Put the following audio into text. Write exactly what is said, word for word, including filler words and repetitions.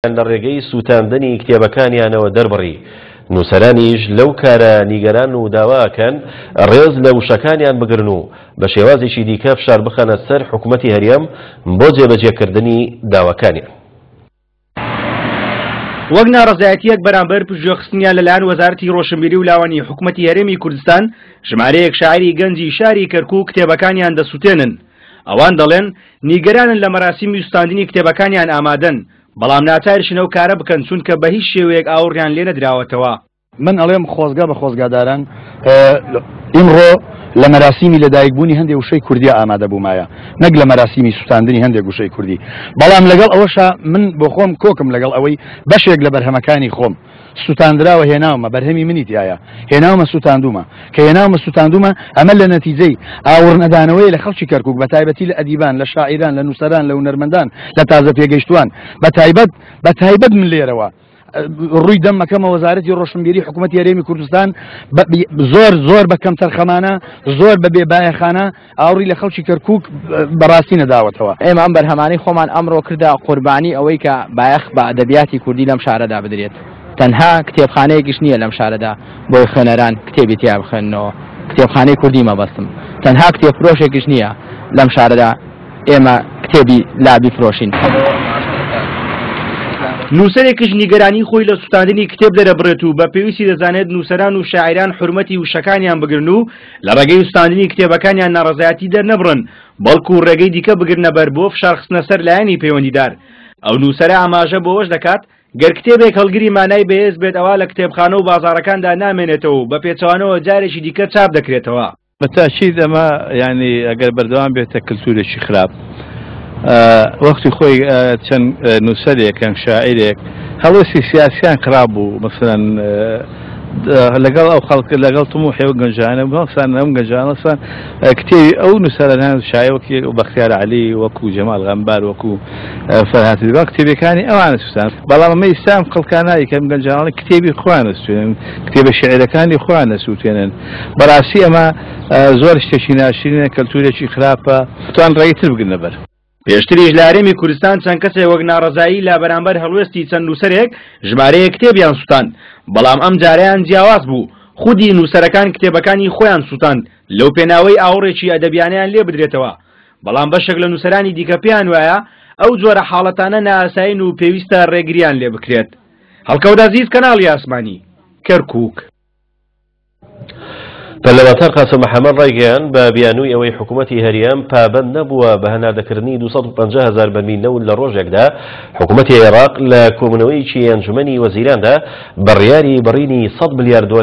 لە ڕێگەی سووتاندنی کتێبەکانیانەوە دەربڕی. نووسەرانیش لەو کارە نیگەران و داواکەن ڕێز لە وشەکانیان بگرن و بە شێوازێکی دیکە فشار بخەنە سەر حکوومەتی هەرێم بۆ جێبەجێکردنی داواکانیان. وەک ناڕەزایەتیەک بەرامبەر پشتگوێخستنیان لەلایەن وەزارەتی ڕۆشنبیری و لاوانی حکوومەتی هەرێمی کوردستان، ژمارەیەک شاعری گەنجی شاری کەرکوو کتێبەکانیان دەسووتێنن. ئەوان دەڵێن نیگەرانن لە مەراسیمی سووتاندنی کتێبەکانیان ئامادەن، بەڵام ناچاریشن ئەو کارە بکەن چونکە بە هیچ شێوەیەک ئاوڕیان لێ نەدراوەتەوە. من ئەڵێم خۆزگا بە خۆزگاداران ئیمڕۆ لە مەراسیمی لەدایکبوونی هەندێک وشەی کوردیا ئامادە بوومایە، نەک لە مەراسیمی سووتاندنی هەندێک وشەی کوردی. بەڵام لەگەڵ ئەوەشا من بۆ خۆم کۆکم لەگەڵ ئەوەی بەشێک لە بەرهەمەکانی خۆم سووتاندراوە، هێناومە بەرهەمی منی تایە، هێناومە سووتاندومە، کە هێناومە سووتاندومە ئەمە لە نەتیجەی ئاوڕنەدانەوەی لە خەڵکی کەرکووک، بە تایبەتی لە ئەدیبان، لە شاعیران، لە نووسەران، لە هونەرمەندان، لە تازە پێگەیشتوان. بە تایبەت بە تایبەت من لێرەوە ڕووی دەمەکەمە وەزارەتی ڕۆشنبیری حکوومەتی هەرێمی کوردستان زۆر زۆر بە کەمتەرخەمانە، زۆر بە بێبایەخانە ئاوڕی لە خەڵکی کەرکووک بەڕاستی نەداوەتەوە. ئێمە ئەم بەرهەمانەی خۆمان ئەمڕۆ کردە قوربانی ئەوەی کە بایەخ بە ئەدەبیاتی کوردی لەم شارەدا بدرێت. تەنها کتێبخانەیەکیش نییە لەم شارەدا بۆی خوێنەران کتێبی تیا بخوێننەوە، کتێبخانەی کوردی مەبەستم. تەنها کتێبفرۆشێکیش نییە لەم شارەدا ئێمە کتێبی لا بیفرۆشین. نووسەرێکیش نیگەرانی خۆی لە سووتاندنی کتێب دەرەبڕێت و بە پێویستی دەزانێت نووسەران و شاعیران حورمەتی وشەکانیان بگرن و لە ڕێگەی سووتاندنی کتێبەکانیان ناڕەزایەتی دەرنەبڕن، بەڵکو ڕێگەی دیکە بگرنە بەر بۆ فشارخستنە سەر لایەنی پەیوەندیدار. ئەو نووسەرە ئاماژە بۆوەش دەکات گەر کتێبێک هەڵگری مانای بەهێز بێت ئەوە لە کتێبخانە و بازاڕەکاندا نامێنێتەوە و بە پێچەوانەوە جارێکی دیکە چاپ دەکرێتەوە. بەتاکید ئەمە یعنی ئەگەر بەردەوام بێتە کلتورێکی خراپ، وەختی خۆی چەند نووسەرێک یان شاعیرێک هەڵوێستی سیاسیان خراپ بوو، مثلەن لەگەڵ ئەو خەڵک لەگەڵ طموحی ئەو گەنجانە هەڵسان، ئەم گەنجانە هەڵسان کتێبی ئەو نووسەرانە شاعیر وەکی بەختیار عەلی، وەکو جەمال غەمبار، وەکو فەرهاد تریبان کتێبەکانی ئەوانە سووتان. بەڵام ئەمە ئێستا ئەم خەڵکانایی کە ئەم گەنجانە کتێبی خۆیان ئەسووتێنن، کتێبە شعرەکانی خۆیان ئەسووتێنن. بەڕاستی ئەمە زۆر شتێکی ناشرینە، کەلتورێکی خراپە، توان ڕێگەی تر بگرنە بەر. پێشتریش لە هەرێمی کوردستان چەند کەسێک وەک ناڕەزایی لە بەرامبەر هەڵوێستی چەند نووسەرێک ژمارەیەک کتێبیان سووتاند، بەڵام ئەم جارەیان جیاواز بوو. خودی نووسەرەکان کتێبەکانی خۆیان سووتاند لەو پێناوەی ئاوڕێکی ئەدەبیانیان لێ بدرێتەوە. بەڵام بەشێک لە نووسەرانی دیکە پێیان وایە ئەو جۆرە حاڵەتانە نائاسایین و پێویستە ڕێگریان لێ بکرێت. هەڵکەوت عەزیز، کەناڵی ئاسمانی، کەرکووک. پەرلەمانتار قاسم محەممەد ڕایگەیاند بە بیانووی ئەوەی حکوومەتی هەرێم پابەند نەبووە بە هەناردەکردنی دوو سەد و پەنجا هەزار بەرمیل نەوت لە ڕۆژێکدا، حکوومەتی عێراق لە کۆبوونەوەیەکی ئەنجومەنی وەزیراندا بڕیاری بڕینی سەد ملیار دۆلار